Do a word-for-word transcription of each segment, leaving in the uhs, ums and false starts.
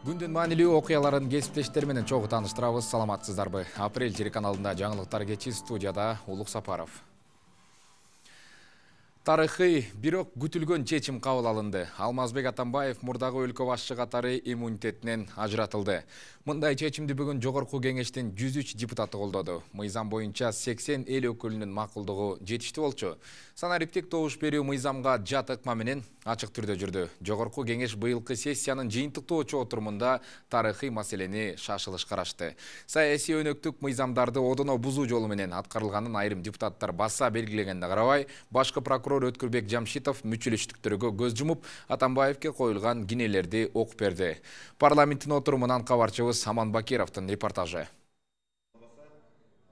Күндүн маанилүү окуяларын кесиптештер менен чогуу тааныштырабыз. Саламатсыздарбы? Апрель телеканалында жаңылыктар кечи, студияда Улук Сапаров. Тарыхый, бирок күтүлгөн чечим кабыл алынды. Алмазбек Атамбаев мурдагы өлкө башчы катары иммунитетинен ажыратылды. Мындай чечимди бүгүн Жогорку кеңештин жүз үч депутаты колдоду. Мыйзам боюнча сексен эл өкүлүнүн макулдугу жетиштүү болчу. Санариптик добуш берүү мыйзамга жат ыкма менен ачык түрдө жүрдү. Жогорку кеңеш быйылкы сессиянын жыйынтыктоочу отурумунда тарыхый маселени шашылыш карашты. Саясий өнөктүк мыйзамдарды одоно бузуу жолу менен аткарылганын айрым депутаттар баса белгилегенде карабай, башкы прокурор Өткүрбек Жамшитов мүчүлүштүктөргө көз жумуп, Атамбаевке коюлган кинелерди окуп берди. Парламенттин отурумунан кабарчыбыз Аман Бакировдун репортажы.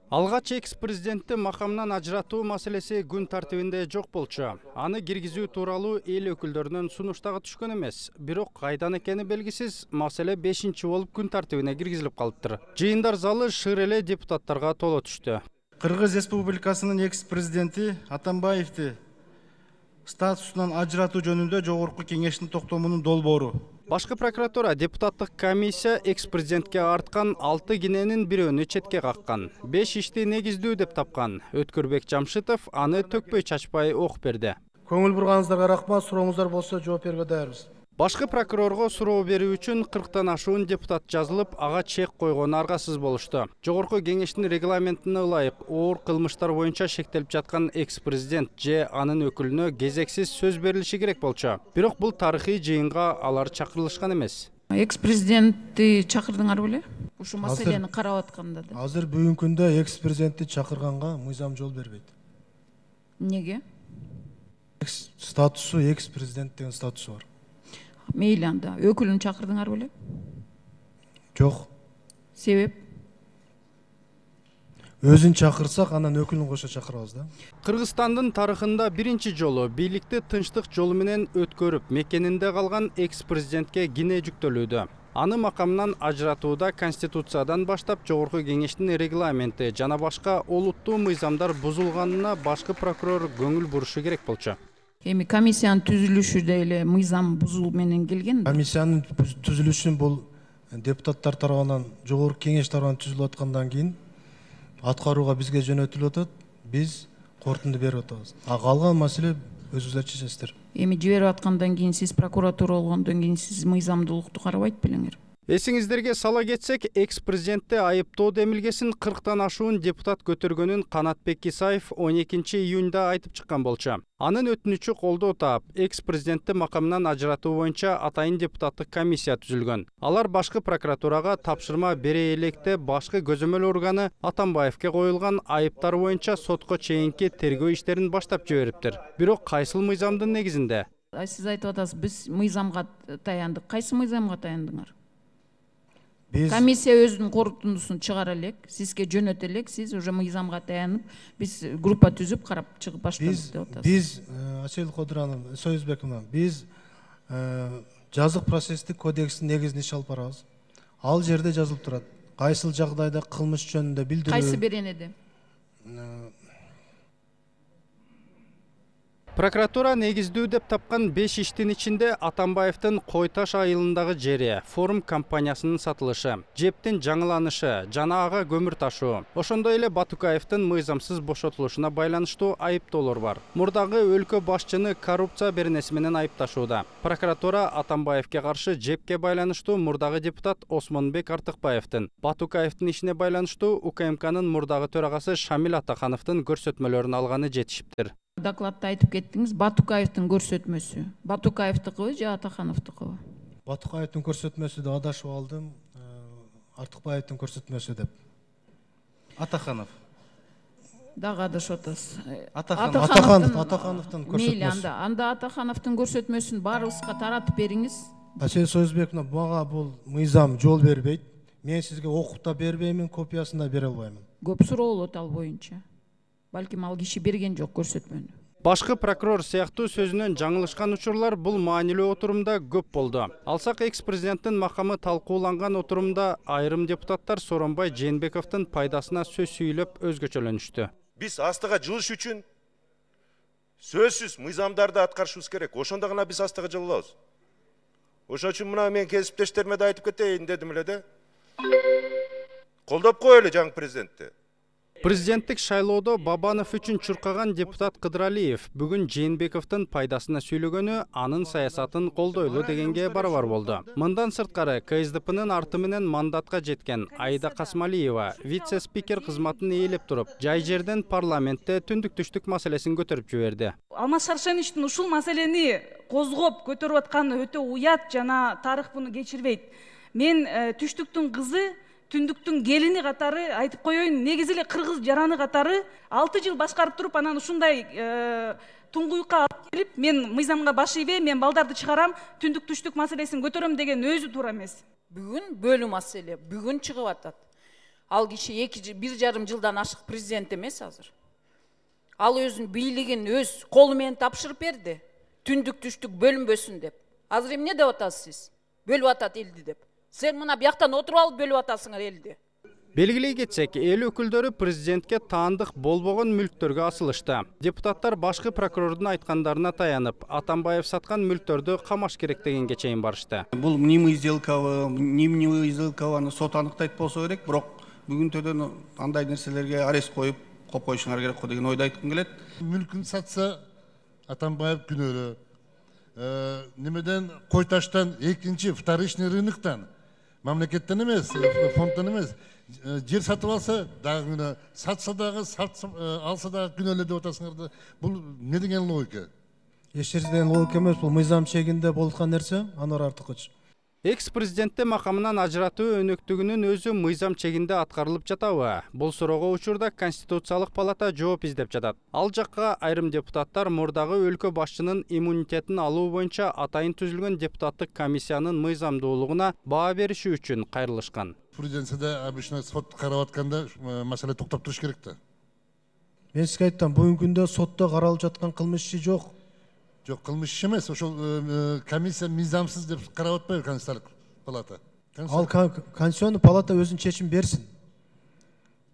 Алгач экс-президентти макамынан ажыратуу маселеси күн тартибинде жок болчу. Аны киргизүү тууралуу эл өкүлдөрүнүн сунуштагы түшкөн эмес. Бирок кайдан экени белгисиз, маселе бешинчи болуп күн тартибине киргизилип калыптыр. Жыйындар залы шыр эле депутаттарга толо түштү. Кыргыз Республикасынын экс-президенти Атамбаевди статусунан ажыратуу жөнүндө Жогорку кеңештин токтомунун долбоору. Башкы прокуратура депутаттык комиссия экс-президентке арткан алты киненин бирөөнү четке каккан. беш ишти негиздүү деп тапкан. Өткүрбек Жамшитов аны төкпөй чачпай окуп берди. Көңүл бурганыңыздарга рахмат, сурооңуздар болсо жооп берүүгө даярбыз. Башкы прокурорго суроо берүү үчүн кырктан ашуун депутат жазылып, ага чек койгону аргасыз болушту. Жогорку кеңештин регламентине ылайык оор кылмыштар боюнча шектелип жаткан экс-президент же анын өкүлүнө кезексиз сөз берилиши керек болчу. Бирок бул тарыхый жыйынга алар чакырылышкан эмес. Экс-президентти чакырдыңар беле? Ушу маселени карап атканда да. Азыр бүгүнкү күндө экс-президентти чакырганга мыйзам жол бербейт. Неге? Статусу экс-президент деген статусу бар. Мейли анда. Өкүлүн чакырдыңар беле? Жок. Себеп? Өзүн чакырсак, анан өкүлүн кошо чакырабыз да. Кыргызстандын тарыхында биринчи жолу бийликти тынчтык жолу менен өткөрүп, мекенинде калган экс-президентке кине жүктөлүүдө. Аны макамынан ажыратууда Конституциядан баштап Жогорку кеңештин регламенти жана башка олуттуу мыйзамдар бузулганына башкы прокурор көңүл бурушу керек болчу. Эми комиссиянын түзүлүшү да эле мыйзам бузуу менен келген. Комиссиянын түзүлүшүн бул депутаттар тарабынан, Жогорку кеңеш тарабынан түзүлүп аткандан кийин аткарууга бизге жөнөтүлүп атат. Биз корутунду берип атабыз. А калган маселе өзүңүздөр чечесиздер. Эми жиберип аткандан кийин сиз прокуратура болгондон кийин сиз мыйзамдуулукту карабайт белеңер. Эсиңиздерге сала кетсек, экс-президентти айыптоо демилгесин кырктан ашуун депутат көтөргөнүн Канатбек Исаев он экинчи июнда айтып чыккан болчу. Анын өтүнүчү колдоо таап, экс-президентти макамынан ажыратуу боюнча атайын депутаттык комиссия түзүлгөн. Алар башкы прокуратурага тапшырма бере электе башкы көзөмөл органы Атамбаевке коюлган айыптар боюнча сотко чейинки тергөө иштерин баштап жибериптир. Бирок кайсыл мыйзамдын негизинде? Сиз айтып атасыз, биз мыйзамга таяндык. Кайсы мыйзамга таяндыңар? Комиссия өзүнүн корутундусун чыгара элек, сизге жөнөтө элек, сиз уже мыйзамга таянып, биз группа түзүп карап чыгып баштадык деп атасыз. Биз Асел Кодуранов, Союзбековна, биз жазык процесстик кодекстин негизинде иш алып барабыз. Ал жерде жазылып турат. Кайсыл жагдайда кылмыш жөнүндө билдирүү. Кайсы беренеде? Прокуратура негиздүү деп тапкан беш иштин ичинде Атамбаевдин Кой Таш айылындагы жери, форум компаниясынын сатылышы, жептин жаңыланышы жана ага көмүр ташуу, ошондой эле Батукаевдин мыйзамсыз бошотулушуна байланыштуу айыптоолор бар. Мурдагы өлкө башчыны коррупция беренеси менен айыпташууда. Прокуратура Атамбаевке каршы жепке байланыштуу мурдагы депутат Осмонбек Артыкбаевдин, Батукаевдин ишине байланыштуу УКМКнын мурдагы төрагасы Шамил Атахановдун көрсөтмөлөрүн алганы жетишиптир. Докладта айтып кеттиңиз, Батукаевдин көрсөтмөсү. Батукаевдикыбы же Атахановдикыбы? Батукаевдин көрсөтмөсү деп адашып алдым, Артыкбаевдин көрсөтмөсү деп. Атаханов. Дагы адашып атасыз. Атаханов, Атахановдун көрсөтмөсү. Мейли, анда, анда Атахановдун көрсөтмөсүн баарыбызга таратып бериңиз. Асел Союзбековна, мага бул мыйзам жол бербейт. Мен сизге окуп да бербеймин, копиясын да бере албаймын. Көп суроо болот ал боюнча. Балким ал киши берген жок көрсөтмөнү. Башкы прокурор сыяктуу сөзүнөн жаңылышкан учурлар бул маанилүү отурумда көп болду. Алсак экс-президенттин макамы талкууланган отурумда айрым депутаттар Сооронбай Жээнбековдун пайдасына сөз сүйлөп өзгөчөлөнүштү. Биз астыга жылыш үчүн сөзсүз мыйзамдарды аткарышыбыз керек. Ошондо гана биз астыга жылабыз. Ошон үчүн мына мен кесиптештериме да айтып кетейин дедим эле да. Колдоп коелу жаңы президентти. Президенттик шайлоодо Бабанов үчүн чуркаган депутат Кыдыралиев бүгүн Жээнбековдун пайдасына сүйлөгөнү анын саясатын колдойлу дегенге барабар болду. Мындан сырткары КСДПнын арты менен мандатка жеткен Айда Касмалиева вице-спикер кызматын ээлеп туруп, жай жерден парламентте түндүк-түштүк маселесин көтөрүп жиберди. Алмаз Шаршеновичтин ушул маселени козгоп көтөрүп атканы өтө уят жана тарых буну кечирбейт. Мен түштүктүн кызы, түндүктүн келини катары айтып коеюн, негизи эле кыргыз жараны катары алты жыл башкарып туруп анан ушундай туңгуюкка алып келип, мен мыйзамга баш ийбей, мен балдарды чыгарам, түндүк түштүк маселесин көтөрөм деген өзү туура эмес. Бүгүн бөлүү маселе, бүгүн чыгып атат. Ал киши эки бир жарым жылдан ашык президент эмес азыр. Ал өзүнүн бийлигин өз колу менен тапшырып берди. Түндүк түштүк бөлүнбөсүн деп. Азыр эмне деп атасыз сиз? Бөлүп атат элди деп. Сен мына бияктан отуруп алып бөлүп атасыңар элди. Белгилей кетсек, эл өкүлдөрү президентке таандык болбогон мүлктөргө асылышты. Депутаттар башкы прокурордун айткандарына таянып, Атамбаев саткан мүлктөрдү камаш керек дегенге чейин барышты. Бул мнимый сделкабы, мнимый сделкабы сот аныктайт болсо керек, бирок бүгүнтөдөн андай нерселерге арест коюп, коп коюшуңар керек го деген ойду айткым келет. Мүлкүн сатса Атамбаев күнөөлүү. Немеден кой таштан экинчи вторичный рыноктан, мамлекеттен эмес, фондтон эмес, жер сатып алса дагы күнөө, сатса дагы, алса дагы күнөөлүү деп атасыңар. Бул не деген логика? Эч жерден логика эмес, бул мыйзам чегинде болуп аткан нерсе, Анвар Артыкыч. Экс-президентти макамынан ажыратуу өнөктүгүнүн өзү мыйзам чегинде аткарылып жатабы? Бул суроого учурда Конституциялык палата жооп издеп жатат. Ал жакка айрым депутаттар мурдагы өлкө башчынын иммунитетин алуу боюнча атайын түзүлгөн депутаттык комиссиянын мыйзамдуулугуна баа бериши үчүн кайрылышкан. Президентиде обычно сот карап атканда маселе токтоп туруш керек да. Мен сизге айттым, бүгүнкү күндө сотто каралып жаткан кылмыш иши жок. Жок, кылмыш иши эмес, ошол комиссия мыйзамсыз деп карап атпайбы Конституциялык палата? Ал Конституционный палата өзүнүн чечим берсин.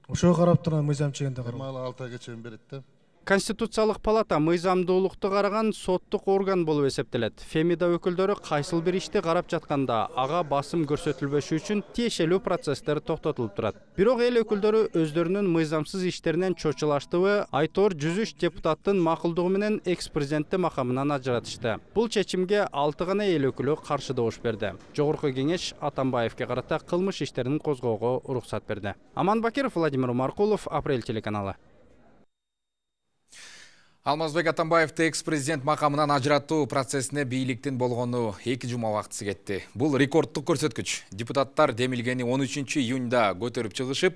Ошого карап турган мыйзам чегинде карап. Мага алты айга чейин берет да. Конституциялык палата мыйзамдуулукту караган соттук орган болуп эсептелет. Фемида өкүлдөрү кайсыл бир ишти карап жатканда ага басым көрсөтүлбөшү үчүн тиешелүү процесстер токтотулуп турат. Бирок эл өкүлдөрү өздөрүнүн мыйзамсыз иштеринен чочулаштыбы, Айтор жүз үч депутаттын макулдугу менен экс-президентти макамынан ажыратышты. Бул чечимге алты гана эл өкүлү каршы добуш берди. Жогорку кеңеш Атамбаевке карата кылмыш иштерин козгоого уруксат берди. Аман Бакиров, Владимир Маркулов, Апрель телеканалы. Алмазбек Атамбаевди экс-президент макамынан ажыратуу процессине бийликтин болгону эки жума убактысы кетти. Бул рекорддук көрсөткүч. Депутаттар демилгени он үчүнчү июнда көтөрүп чыгышып,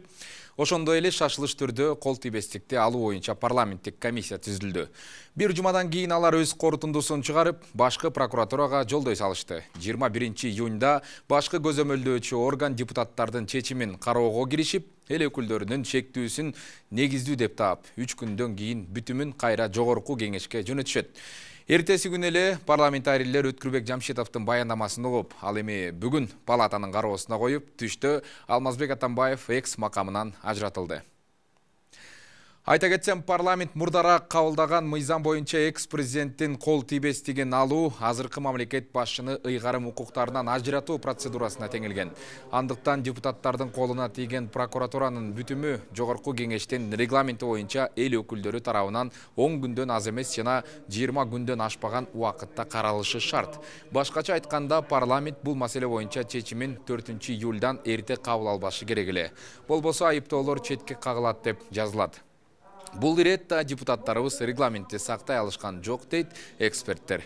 ошондой эле шашылыш түрдө кол тийбестикти алуу боюнча парламенттик комиссия түзүлдү. Бир жумадан кийин алар өз корутундусун чыгарып, башкы прокуратурага жолдой салышты. жыйырма биринчи июнда башкы көзөмөлдөөчү орган депутаттардын чечимин кароого киришип, эл өкүлдөрүнүн шектүүсүн негиздүү деп таап, үч күндөн кийин бүтүмүн кайра жогорку кеңешке жөнөтүшөт. Эртеси күнү эле парламентарийлер Өткүрбек Жамшитовдун баяндамасын угуп, ал эми бүгүн палатанын кароосуна коюп, түштө Алмазбек Атамбаев экс макамынан ажыратылды. Айта кетсем, парламент мурдараак кабылдаган мыйзам боюнча экс-президенттин кол тийбестигин алуу азыркы мамлекет башчыны ыйгарым укуктарынан ажыратуу процедурасына теңелген. Андыктан депутаттардын колуна тийген прокуратуранын бүтүмү жогорку кеңештин регламенти боюнча эл өкүлдөрү тарабынан он күндөн аз эмес жана жыйырма күндөн ашпаган убакытта каралышы шарт. Башкача айтканда, парламент бул маселе боюнча чечимин төртүнчү июлдан эрте кабыл албашы керек эле. Болбосо айыптоолор четке кагылат деп жазылат. Бул иретте депутаттарыбыз регламентти сактай алышкан жок дейт эксперттер.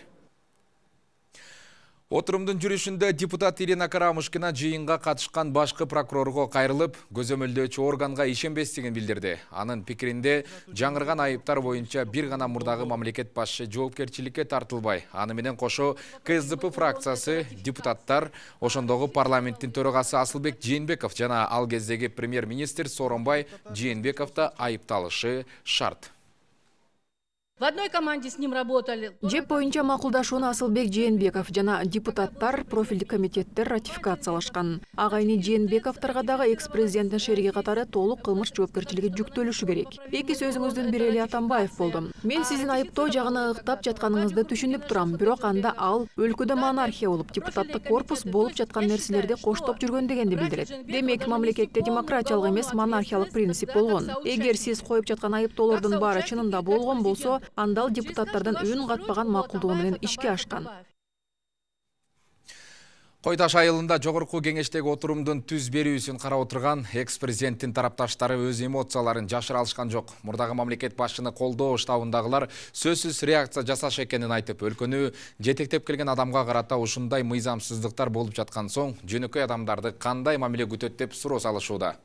Отурумдун жүрүшүндө депутат Ирина Карамушкина жыйынга катышкан башкы прокурорго кайрылып, көзөмөлдөөчү органга ишенбестигин билдирди. Анын пикиринде, жаңырган айыптар боюнча бир гана мурдагы мамлекет башчы жоопкерчиликке тартылбай, аны менен кошо КСДП фракциясы, депутаттар, ошондогу парламенттин төрагасы Асылбек Жээнбеков жана ал кездеги премьер-министр Сооронбай Жээнбеков да айыпталышы шарт. В одной команде с ним работали. Жеп боюнча макулдашууну Асылбек Жээнбеков жана депутаттар профилдик комитеттер ратификациялашкан. Агайны Жээнбековторго дагы экс-президенттин шериги катары толук кылмыш жоопкерчилиги жүктөлүшү керек. Эки сөзүңүздүн бири эле Атамбаев болду. Мен сиздин айыптоо жагына ыктап жатканыңызды түшүнүп турам, бирок анда ал өлкөдө монархия болуп, депутаттык корпус болуп жаткан нерселерди коштоп жүргөн дегенди билдирет. Демек, мамлекетте демократиялык эмес монархиялык принцип болгон. Эгер сиз коюп жаткан айыптоолордун баары чынында болгон болсо, анда ал депутаттардын үн катпаган макулдугу менен ишке ашкан. Кой Таш айылында жогорку кеңештеги отурумдун түз берүүсүн карап отурган экс-президенттин тарапташтары өз эмоцияларын жашыра алышкан жок. Мурдагы мамлекет башчыны колдоо штабындагылар сөзсүз реакция жасаш экенин айтып, өлкөнү жетектеп келген адамга карата ушундай мыйзамсыздыктар болуп жаткан соң, жөнөкөй адамдарды кандай мамиле күтөт деп суроо салышууда.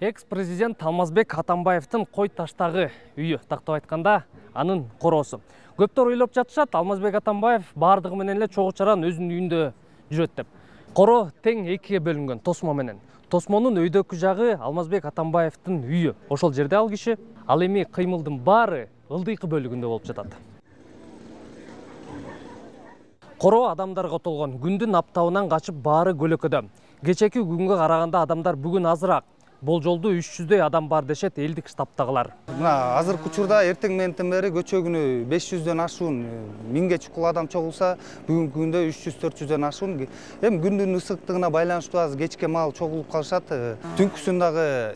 Экс-президент Алмазбек Атамбаевдин Кой Таштагы үйү, тактап айтканда, анын короосу. Көптөр ойлоп жатышат, Алмазбек Атамбаев бардыгы менен эле чогуу чаран өзүнүн үйүндө жүрөт деп. Коро тең экиге бөлүнгөн тосмо менен. Тосмонун өйдөкү жагы Алмазбек Атамбаевдин үйү. Ошол жерде ал киши, ал эми кыймылдын баары ылдыйкы бөлүгүндө болуп жатат. Коро адамдарга толгон, күндүн аптабынан качып баары көлөкөдө. Кечеки күнгө караганда адамдар бүгүн азыраак. Болжолду үч жүздөй адам бар дешет элдик штабтагылар. Мына азыркы учурда эртең менен бери көчө күнү беш жүздөн ашуун миңге чукул адам чогулса, бүгүнкү күндө үч жүз төрт жүздөн ашуун. Эми күндүн ысыктыгына байланыштуу аз кечке маал чогулуп калышат. Түнкүсүн дагы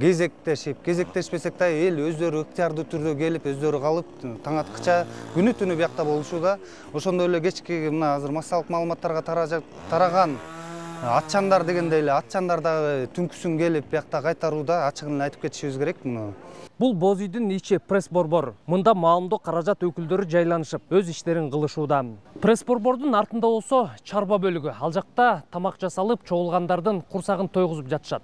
кезектешип, кезектешпесек да эл өздөрү ыктыярдуу түрдө келип, өздөрү калып, таң аткыча күнү түнү биякта болушууда. Ошондой эле кечки мына азыр массалык маалыматтарга тараган атчандар дегенде эле атчандар дагы түнкүсүн келип биякта кайтарууда, ачыгын айтып кетишибиз керек. Бул боз үйдүн ичи пресс-борбор. Мында маалымдоо каражат өкүлдөрү жайланышып, өз иштерин кылышууда. Пресс-борбордун артында болсо чарба бөлүгү. Ал жакта тамак жасалып, чогулгандардын курсагын тойгузуп жатышат.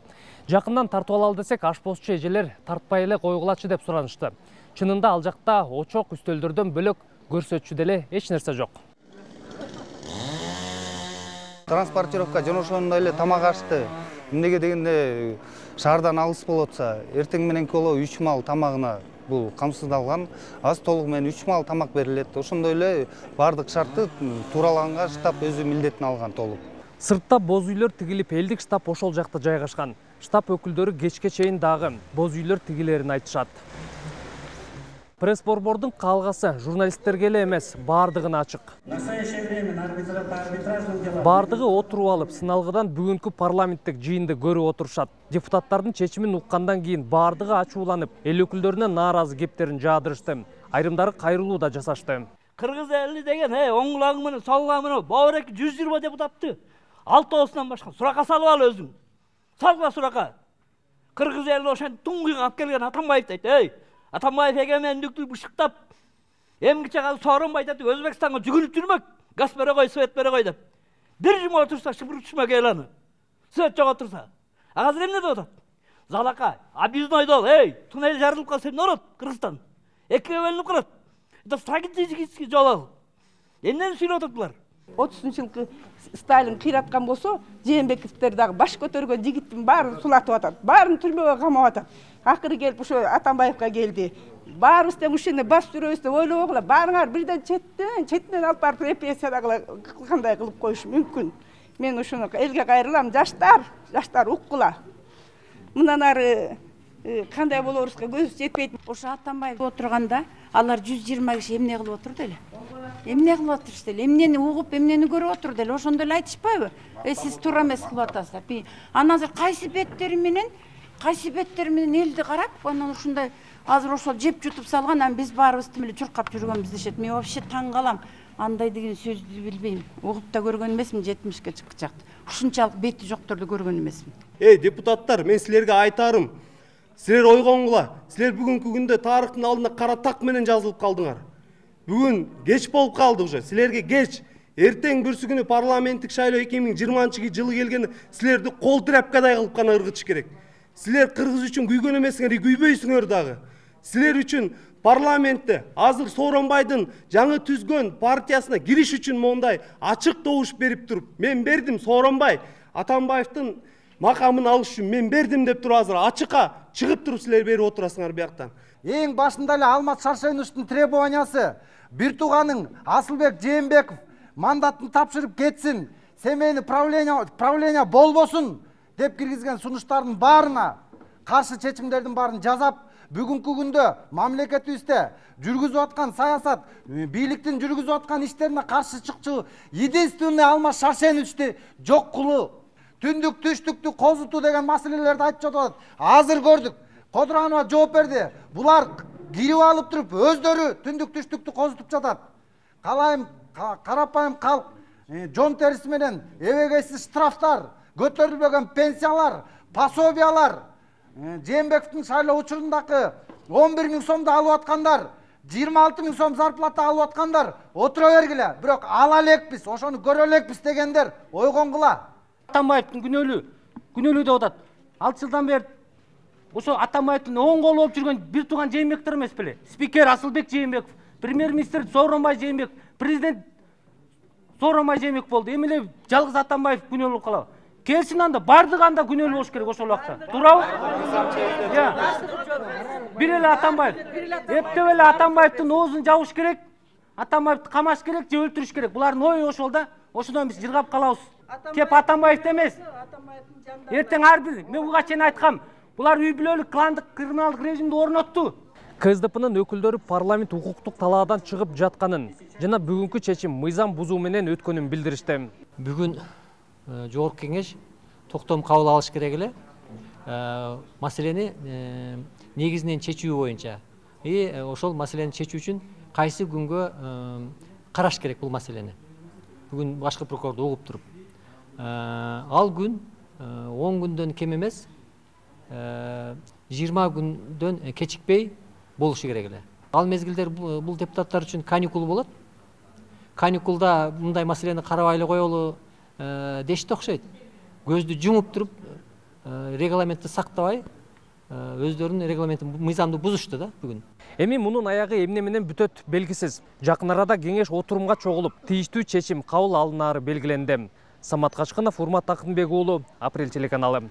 Жакындан тартып алалы десек, ашпозчу эжелер тартпай эле койгулачы деп суранышты. Чынында ал жакта очок үстөлдөрдөн бөлөк көрсөтчү деле эч нерсе жок. Транспортировка жана ошондой эле тамак ашты. Эмнеге дегенде шаардан алыс болуп атса, эртең мененки боло үч маал тамагына бул камсыздалган. Аз толугу менен үч маал тамак берилет. Ошондой эле бардык шарты туураланга штаб өзү милдетин алган толук. Сыртта боз үйлөр тигилип, элдик штаб ошол жакта жайгашкан. Штаб өкүлдөрү кечке чейин дагы боз үйлөр тигилерин айтышат. Пресс-борбордун калгасы журналисттерге эле эмес, бардыгына ачык. Бардыгы отуруп алып, сыналгыдан бүгүнкү парламенттик жыйынды көрүп отурушат. Депутаттардын чечимин уккандан кийин бардыгы ачууланып, эл өкүлдөрүнө нааразы кепттерин жаадырышты. Айрымдары кайрылуу да жасашты. Кыргыз эли деген, э, оң кулагы менен, сол кулагы менен баары жүз жыйырма депутатты алтоосунан башка суракка салып ал өзүң. Салгыла суракка. Кыргыз эли ошентип туңгуйга алып келген Атамбаев дейт, эй, Атамбаев эгемендикти бышыктап, эмгиче калып Сооронбай айтат, Өзбекстанга жүгүнүп жүрмөк, газ бере кой, свет бере кой деп. Бир жума отурса шыпыр түшмөк эл аны. Свет жок отурса. А азыр эмне деп атат? Залака, объездной дол, эй, туннель жарылып калса эмне болот? Кыргызстан. Экиге бөлүнүп калат. Это стратегический жол ал. Эмнени сүйлөп атат булар? отузунчу жылкы Сталин кыйраткан болсо, Жээнбековдер дагы баш көтөргөн жигиттин баарын сулатып атат, баарын түрмөгө камап атат. Акыры келип ошо Атамбаевга келди. Баарыбыз тең ушуну бас жүрөбүз деп ойлобогула, баарыңар бирден четтен, четтен алып барып репрессиядагы кандай кылып коюш мүмкүн. Мен ушуну элге кайрылам, жаштар, жаштар уккула. Мындан ары кандай болорубузга көзүбүз жетпейт. Ошо Атамбаев отурганда алар жүз жыйырма киши эмне кылып отурду эле? Эмне кылып отурушты эле? Эмнени угуп, эмнени көрүп отурду эле? Ошондо эле айтышпайбы? Э, сиз туура эмес кылып атасыздар. Анан азыр кайсы беттери менен, кайсы беттери менен элди карап, анан ушундай азыр ошол жеп жутуп салган, анан биз баарыбыз тим эле чуркап жүргөнбүз дешет. Мен вообще таң калам. Андай деген сөздү билбейм. Угуп да көргөн эмесмин, жетимишке чыкчакты. Ушунчалык бети жокторду көргөн эмесмин. Эй, депутаттар, мен силерге айтарым. Силер ойгонгула. Силер бүгүнкү күндө тарыхтын алдында кара так менен жазылып калдыңар. Бүгүн кеч болуп калды уже. Силерге кеч. Эртең бүрсү күнү парламенттик шайлоо эки миң жыйырманчы жылы келгенде силерди кол тряпкадай кылып гана ыргытыш керек. Силер кыргыз үчүн күйгөн эмесиңер, күйбөйсүңөр дагы. Силер үчүн парламентте азыр Сооронбайдын жаңы түзгөн партиясына кириш үчүн мондай ачык добуш берип туруп, мен бердим Сооронбай Атамбаевдин макамын алыш үчүн мен бердим деп туруп азыр ачыкка чыгып туруп силер берип отурасыңар бияктан. эң башында эле Алмаз Шаршеновичтин требованиясы бир тууганың Асылбек Жээнбеков мандатын тапшырып кетсин, семейный правление правление болбосун деп киргизген сунуштардын баарына каршы чечимдердин баарын жазап, бүгүнкү күндө мамлекетибизде жүргүзүп аткан саясат, бийликтин жүргүзүп аткан иштерине каршы чыкчу единственный Алмаз Шаршеновичти жок кылуу, түндүк түштүктү козутуу деген маселелерди айтып жатат. Азыр көрдүк, Кодуранова жооп берди. Булар кирип алып туруп өздөрү түндүк түштүктү козутуп жатат. Калайым карапайым калк жон териси менен эбегейсиз штрафтар, көтөрүлбөгөн пенсиялар, пособиялар, Жээнбековдун шайлоо учурундагы он бир миң сомду алып аткандар, жыйырма алты миң сом зарплата алып аткандар отура бергиле, бирок ала элекпиз, ошону көрө элекпиз дегендер ойгонгула. Атамбаевдин күнөөлүү, күнөөлүү деп атат. алты жылдан бери ошо Атамбаевдин оң колу болуп жүргөн бир тууган Жээнбековдор эмес беле? Спикер Асылбек Жээнбеков, премьер-министр Сооронбай Жээнбеков, президент Сооронбай Жээнбеков болду. Эми эле жалгыз Атамбаев күнөөлүү болуп калабы? Келсин анда бардыгы анда күнөөлүү болуш керек ошол убакта. Туурабы? Бир эле Атамбаев. Эптеп эле Атамбаевдин оозун жабыш керек, Атамбаевди камаш керек же өлтүрүш керек. Булардын ою ошол да. Ошондон биз жыргап калабыз. Кеп Атамбаевди эмес. Эртең ар бир, мен буга чейин айткам, булар үй бүлөлүк кландык криминалдык режимди орнотту. КСДПнын өкүлдөрү парламент укуктук талаадан чыгып жатканын жана бүгүнкү чечим мыйзам бузуу менен өткөнүн билдиришти. Бүгүн жогорку кеңеш токтом кабыл алыш керек эле. Маселени негизинен чечүү боюнча. И ошол маселени чечүү үчүн кайсы күнгө караш керек бул маселени. Бүгүн башкы прокурорду угуп туруп. Ал күн он күндөн кем эмес, жыйырма күндөн кечикпей болушу керек эле. Ал мезгилдер бул депутаттар үчүн каникул болот. Каникулда мындай маселени карабай эле коелу дешти окшойт. Көздү жумуп туруп, регламентти сактабай, өздөрүнүн регламентин мыйзамды бузушту да бүгүн. Эми мунун аягы эмне менен бүтөт белгисиз. Жакын арада кеңеш отурумга чогулуп, тийиштүү чечим кабыл алынары белгиленди. Самат Качкынов, Урмат Акынбек уулу, Апрель телеканалы.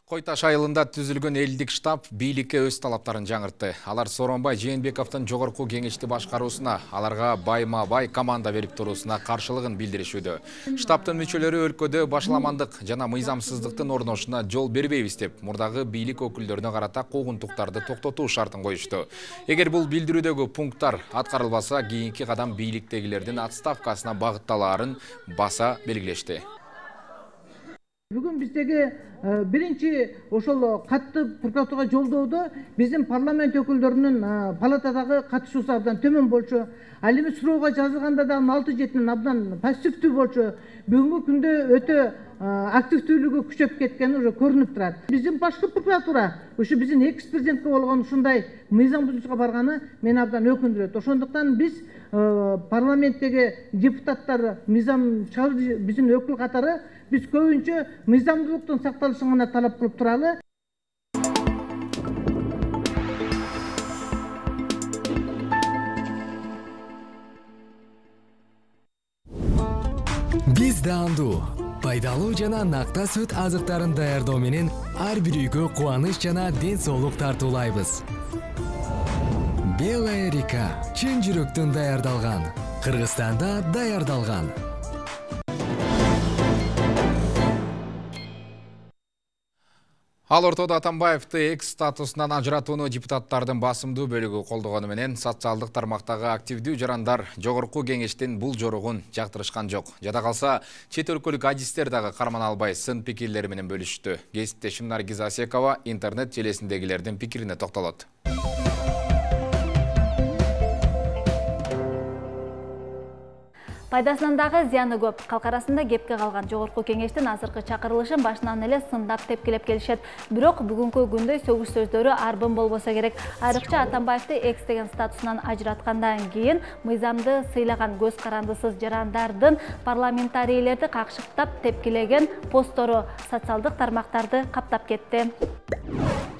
Кой Таш айылында түзүлгөн элдик штаб бийликке өз талаптарын жаңыртты. Алар Сооронбай Жээнбековдун жогорку кеңешти башкаруусуна, аларга байма-бай команда берип туруусуна каршылыгын билдиришүүдө. Штабтын мүчөлөрү өлкөдө башаламандык жана мыйзамсыздыктын орношуна жол бербейбиз деп, мурдагы бийлик өкүлдөрүнө карата куугунтуктарды токтотуу шартын коюшту. Эгер бул билдирүүдөгү пункттар аткарылбаса, кийинки кадам бийликтегилердин отставкасына багытталаарын баса белгилешти. Бүгүн биздеги биринчи ошол катты прокуратурага жолдоодо биздин парламент өкүлдөрүнүн палатадагы катышуусу абдан төмөн болчу. Ал эми суроого жазылганда да алты жетинин абдан пассивдүү болчу. Бүгүнкү күндө өтө активдүүлүгү күчөп кеткени уже көрүнүп турат. Биздин башкы прокуратура ушу биздин экс президентке болгон ушундай мыйзам бузуушка барганы мени абдан өкүндүрөт. Ошондуктан биз парламенттеги депутаттар мыйзам чыгаруу биздин өкүл катары биз көбүнчө мыйзамдуулуктун сакталышын гана талап кылып туралы. Биз даандуу, пайдалуу жана накта сүт азыктарын даярдоо менен ар бир үйгө кубаныч жана ден соолук тартуулайбыз. Белая река чын жүрөктөн даярдалган, Кыргызстанда даярдалган. Ал ортодо Атамбаевди экс статусунан ажыратууну депутаттардын басымдуу бөлүгү колдогону менен социалдык тармактагы активдүү жарандар жогорку кеңештин бул жоругун жактырышкан жок. Жада калса, чет өлкөлүк адистер дагы карман албай сын пикирлери менен бөлүштү. Кесиптешим Наргиза Асекова интернет желесиндегилердин пикирине токтолот. Пайдасынан дагы зыяны көп. Калк арасында кепке калган жогорку кеңештин азыркы чакырылышын башынан эле сындап тепкилеп келишет. Бирок бүгүнкү күндөй сөгүш сөздөрү арбын болбосо керек. Айрыкча Атамбаевди экс деген статусунан ажыраткандан кийин мыйзамды сыйлаган көз карандысыз жарандардын парламентарийлерди какшыктап тепкилеген посттору социалдык тармактарды каптап кетти.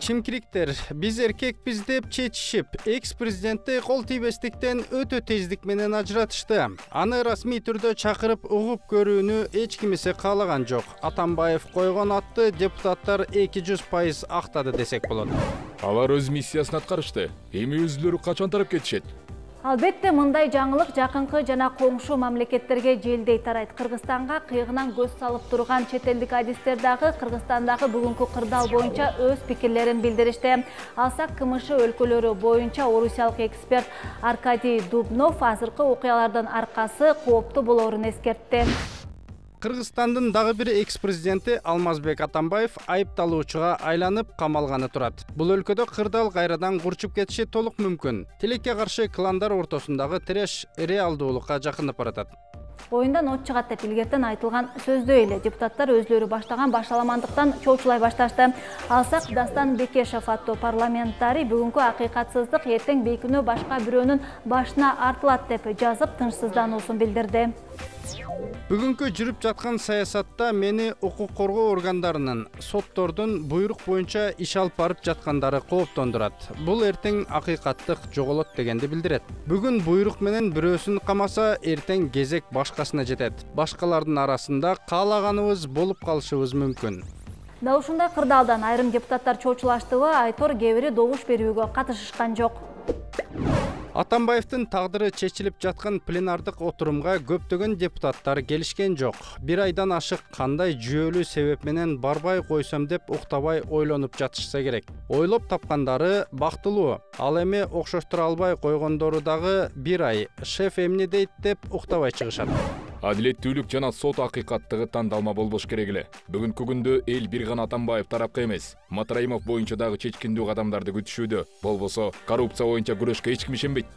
Чимкириктер, биз эркекпиз деп чечишип, экс-президентти кол тийбестиктен өтө тездик менен ажыратышты. Аны расмий түрдө чакырып угуп көрүүнү эч кимисе каалаган жок. Атамбаев койгон атты депутаттар эки жүз пайыз актады десек болот. Алар өз миссиясын аткарышты. Эми өзүлөрү качан тарап кетишет? Албетте мындай жаңылык жакынкы жана коңшу мамлекеттерге желдей тарайт. Кыргызстанга кыйгынан көз салып турган чет элдик адистер дагы Кыргызстандагы бүгүнкү кырдаал боюнча өз пикирлерин билдиришти. Алсак КМШ өлкөлөрү боюнча орусиялык эксперт Аркадий Дубнов азыркы окуялардын аркасы кооптуу болоорун эскертти. Кыргызстандын дагы бир экс-президенти Алмазбек Атамбаев айыпталуучуга айланып камалганы турат. Бул өлкөдө кырдаал кайрадан курчуп кетиши толук мүмкүн. Тилекке каршы кландар ортосундагы тиреш реалдуулукка жакынып баратат. Оюндан от чыгат деп илгертен айтылган сөздөй эле депутаттар өзлөрү баштаган башаламандыктан чоочулай башташты. Алсак Дастан Бекешев аттуу парламентарий бүгүнкү акыйкатсыздык эртең бейкүнөө башка бирөөнүн башына артылат деп жазып тынчсыздануусун билдирди. Бүгүнкү жүрүп жаткан саясатта мени укук коргоо органдарынын, соттордун буйрук боюнча иш алып барып жаткандары кооптондурат. Бул эртең акыйкаттык жоголот дегенди билдирет. Бүгүн буйрук менен бирөөсүн камаса, эртең кезек башкасына жетет. Башкалардын арасында каалаганыбыз болуп калышыбыз мүмкүн. Дал ушундай кырдаалдан айрым депутаттар чоочулаштыбы, айтор кээ бири добуш берүүгө катышышкан жок. Атамбаевдин тагдыры чечилип жаткан пленардык отурумга көптөгөн депутаттар келишкен жок. Бир айдан ашык кандай жүйөлүү себеп менен барбай койсом деп уктабай ойлонуп жатышса керек. Ойлоп тапкандары бактылуу. Ал эми окшоштура албай койгондору дагы бир ай шеф эмне дейт деп уктабай чыгышат. Адилеттүүлүк жана сот акыйкаттыгы тандалма болбош керек эле. Бүгүнкү күндө эл бир гана Атамбаев тарапка эмес, Матраимов боюнча дагы чечкиндүү кадамдарды күтүшүүдө. Болбосо коррупция боюнча күрөшкө эч ким ишенбейт.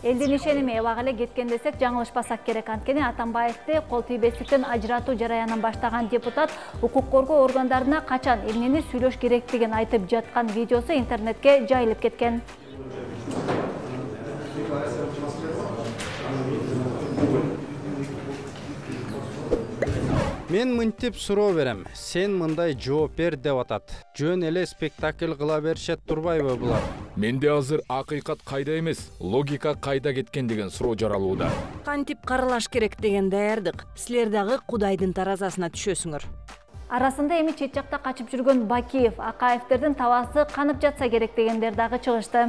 Элдин ишеними эбак эле кеткен десек жаңылышпасак керек. Анткени Атамбаевди кол тийбестиктен ажыратуу жараянын баштаган депутат укук коргоо органдарына качан эмнени сүйлөш керектигин айтып жаткан видеосу интернетке жайылып кеткен. Мен мынтип суроо берем. Сен мындай жооп бер деп атат. Жөн эле спектакль кыла беришет турбайбы булар? Менде азыр акыйкат кайда эмес, логика кайда кеткен деген суроо жаралууда. Кантип каралаш керек деген даярдык. Силер дагы Кудайдын таразасына түшөсүңөр. Арасында эми чет жакта качып жүргөн Бакиев, Акаевтердин табасы канып жатса керек дегендер дагы чыгышты.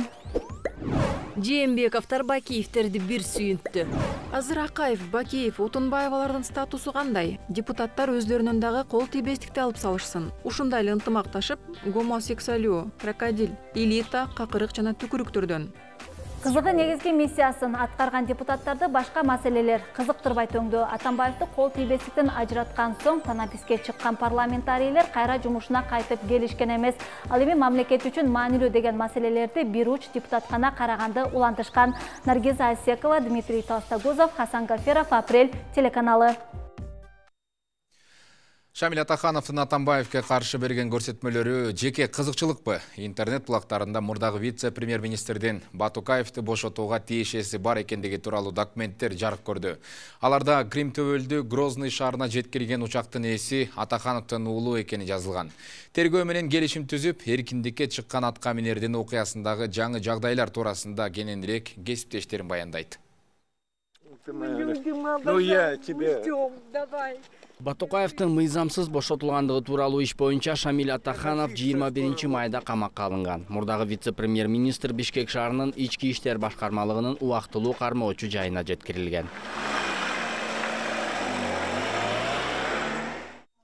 Жээнбековдор Бакиевтерди бир сүйүнттү. Азыр Акаев, Бакиев, Отунбаевалардын статусу кандай? Депутаттар өздөрүнүн дагы кол тийбестикти алып салышсын. Ушундай эле ынтымакташып, гомосексуалуу, крокодил, элита, какырык жана түкүрүктөрдөн. Кызыгы негизги миссиясын аткарган депутаттарды башка маселелер кызыктырбай төңдү. Атамбаевди кол тийбестиктен ажыраткан соң танаписке чыккан парламентарийлер кайра жумушуна кайтып келишкен эмес. Ал эми мамлекет үчүн маанилүү деген маселелерди бир уч депутат гана караганды улантышкан. Наргиза Асекова, Дмитрий Толстогузов, Хасан Гаферов, Апрель телеканалы. Шамиль Атахановдун Атамбаевке каршы берген көрсөтмөлөрү жеке кызыкчылыкпы? Интернет булактарында мурдагы вице-премьер-министрдин Батукаевди бошотууга тиешеси бар экендиги тууралуу документтер жарык көрдү. Аларда Крим төбөлдү Грозный шаарына жеткирген учактын ээси Атахановдун уулу экени жазылган. Тергөө менен келишим түзүп, эркиндикке чыккан атка минердин окуясындагы жаңы жагдайлар туурасында кененирээк кесиптештерин баяндайт. Батукаевдин мыйзамсыз бошотулгандыгы тууралуу иш боюнча Шамиль Атаханов жыйырма биринчи майда камакка алынган. Мурдагы вице-премьер-министр Бишкек шаарынын ички иштер башкармалыгынын убактылуу кармоочу жайына жеткирилген.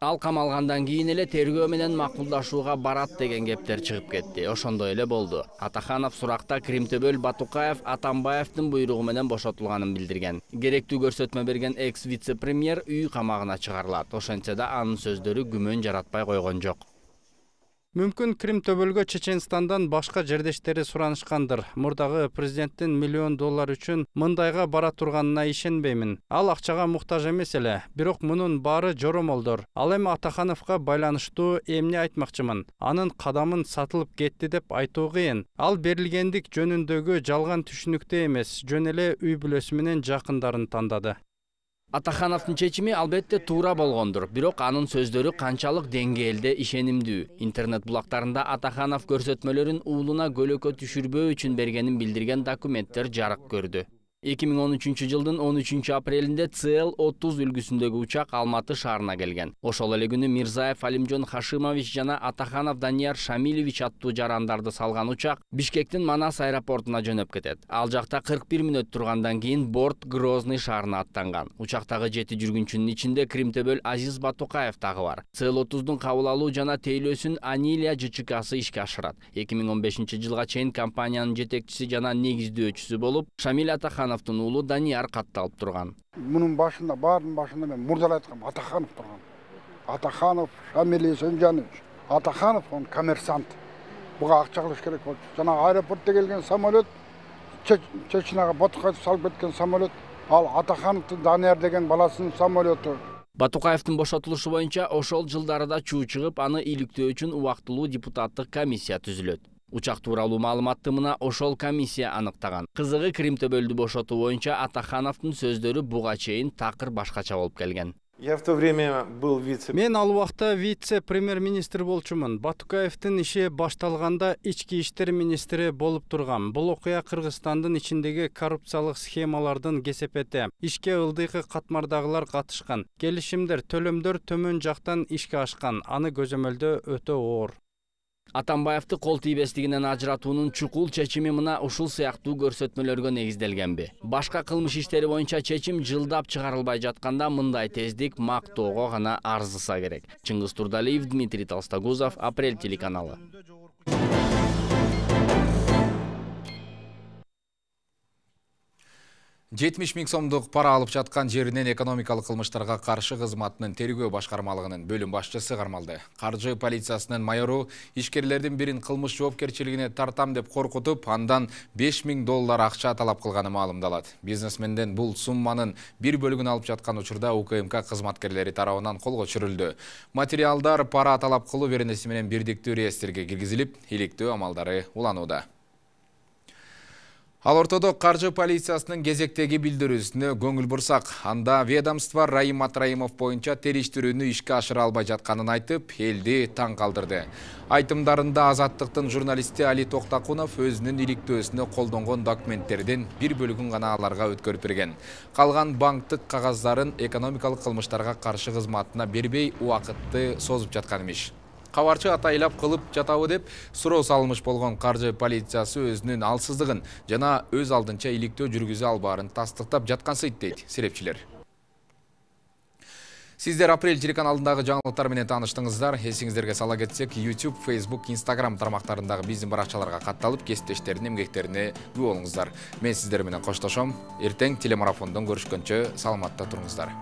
Ал камалгандан кийин эле тергөө менен макулдашууга барат деген кептер чыгып кетти. Ошондой эле болду. Атаханов суракта Кримтөбөл Батукаев Атамбаевдин буйругу менен бошотулганын билдирген. Керектүү көрсөтмө берген экс-вице-премьер үй камагына чыгарылат. Ошентсе да анын сөздөрү күмөн жаратпай койгон жок. Мүмкүн Крим төбөлгө Чеченстандан башка жердештери суранышкандыр. Мурдагы президенттин миллион доллар үчүн мындайга бара турганына ишенбеймин. Ал акчага муктаж эмес эле, бирок мунун баары жоромолдор. Ал эми Атахановго байланыштуу эмне айтмакчымын? Анын кадамын сатылып кетти деп айтуу кыйын. Ал берилгендик жөнүндөгү жалган түшүнүктө эмес, жөн эле үй бүлөсү менен жакындарын тандады. Атахановдун чечими албетте туура болгондур, бирок анын сөздөрү канчалык деңгээлде ишенимдүү? Интернет булактарында Атаханов көрсөтмөлөрүн уулуна көлөкө түшүрбөө үчүн бергенин билдирген документтер жарык көрдү. эки миң он үчүнчү жылдын он үчүнчү апрелинде Цэ Эл отуз үлгүсүндөгү учак Алматы шаарына келген. Ошол эле күнү Мирзаев Алимжон Хашимович жана Атаханов Данияр Шамилевич аттуу жарандарды салган учак Бишкектин Манас аэропортуна жөнөп кетет. Ал жакта кырк бир мүнөт тургандан кийин борт Грозный шаарына аттанган. Учактагы жети жүргүнчүнүн ичинде Кримтөбөл Азиз Батукаев дагы бар. Цэ Эл отуздун кабыл алуу жана тейлөөсүн Анилия Ж Ч К'сы ишке ашырат. эки миң он бешинчи жылга чейин компаниянын жетекчиси жана негиздөөчүсү болуп, Шамил Атаханов уулу Данияр катталып турган. Мунун башында, баарынын башында мен мурда айткам, Атаханов турган. Атаханов Шамил Есенжанович. Атаханов он коммерсант. Буга акча кылыш керек болчу. Жана аэропортто келген самолет, Чечняга Батукаев салып кеткен самолет, ал Атахановдун Данияр деген баласынын самолету. Батукаевдин бошотулушу боюнча ошол жылдарда чуу чыгып, аны иликтөө үчүн убактылуу депутаттык комиссия түзүлөт. Учак тууралуу маалыматты мына ошол комиссия аныктаган. Кызыгы Кримтөбөлдү бошотуу боюнча Атахановдун сөздөрү буга чейин такыр башкача болуп келген. Я в то время был вице... Мен ал убакта вице-премьер-министр болчумун. Батукаевдин иши башталганда ички иштер министри болуп тургам. Бул окуя Кыргызстандын ичиндеги коррупциялык схемалардын кесепети. Ишке ылдыйкы катмардагылар катышкан. Келишимдер, төлөмдөр төмөн жактан ишке ашкан. Аны көзөмөлдөө өтө оор. Атамбаевди кол тийбестигинен ажыратуунун чукул чечими мына ушул сыяктуу көрсөтмөлөргө негизделгенби? Башка кылмыш иштери боюнча чечим жылдап чыгарылбай жатканда мындай тездик мактоого гана арзыса керек. Чыңгыз Турдалиев, Дмитрий Толстогузов, Апрель телеканалы. жетимиш миң сомдук пара алып жаткан жеринен экономикалык кылмыштарга каршы кызматынын тергөө башкармалыгынын бөлүм башчысы кармалды. Каржы полициясынын майору ишкерлердин бирин кылмыш жоопкерчилигине тартам деп коркутуп, андан беш миң доллар акча талап кылганы маалымдалат. Бизнесменден бул сумманын бир бөлүгүн алып жаткан учурда У К М К кызматкерлери тарабынан колго түшүрүлдү. Материалдар пара талап кылуу беренеси менен бирдиктүү реестрге киргизилип, иликтөө амалдары уланууда. Ал ортодо каржы полициясынын кезектеги билдирүүсүнө көңүл бурсак, анда ведомство Раим Атраимов боюнча териштирүүнү ишке ашыра албай жатканын айтып, элди таң калтырды. Айтымдарында Азаттыктын журналисти Али Токтакунов өзүнүн иликтөөсүнө колдонгон документтердин бир бөлүгүн гана аларга өткөрүп берген. Калган банктык кагаздарын экономикалык кылмыштарга каршы кызматына бербей убакытты созуп жаткан имиш. Кабарчы атайлап кылып жатабы деп суроо салынмыш болгон каржы полициясы өзүнүн алсыздыгын жана өз алдынча иликтөө жүргүзө албаарын тастыктап жаткансыйт дейт серепчилер. Сиздер Апрель телеканалындагы жаңылыктар менен тааныштыңыздар. Эсиңиздерге сала кетсек, YouTube, Facebook, Instagram тармактарындагы биздин баракчаларга катталып, кесиптештердин эмгектерине күбө болуңуздар. Мен сиздер менен коштошом. Эртең телемарафондон көрүшкөнчө саламатта туруңуздар.